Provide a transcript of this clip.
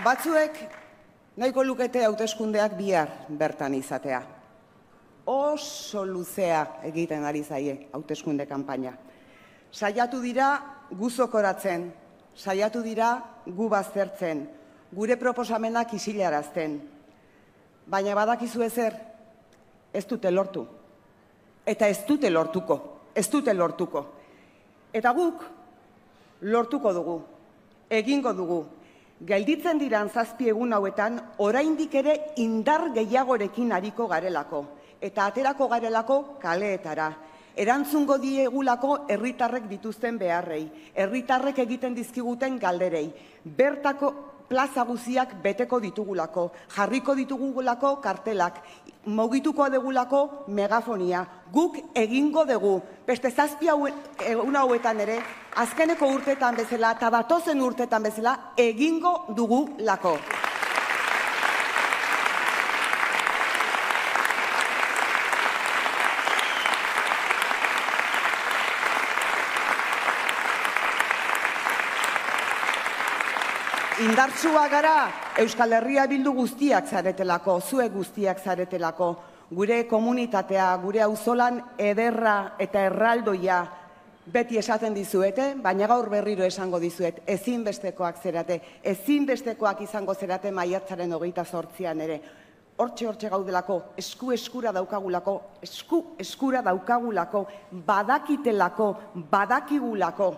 Batzuek nahiko lukete hauteskundeak bihar bertan izatea. Oso luzea egiten ari zaie hauteskunde kanpaina. Saiatu dira gu zokoratzen, saiatu dira gu baztertzen, gure proposamenak isilarazten. Baina badakizu ezer, ez dute lortu. Eta ez dute lortuko, ez dute lortuko. Eta guk lortuko dugu, egingo dugu. Gelditzen diran 7 egun hauetan, oraindik ere indar gehiagorekin ariko garelako. Eta aterako garelako kaleetara. Erantzungo diegulako herritarrek dituzten beharrei, herritarrek egiten dizkiguten galderei. Bertako plaza guziak beteko ditugulako, jarriko ditugulako kartelak, mugituko degulako megafonia. Guk egingo dugu, beste 7 egun hauetan ere, azkeneko urteetan bezala eta datozen urteetan bezala egingo dugulako. Indartsua gara Euskal Herria Bildu guztiak zaretelako, zuek guztiak zaretelako, gure komunitatea, gure auzolan ederra eta erraldoia beti esaten dizuete, baina gaur berriro esango dizuet, ezinbestekoak zerate, ezinbestekoak izango zerate maiatzaren 28an ere. Hortxe gaudelako, eskura daukagulako, eskura daukagulako, badakitelako, badakigulako.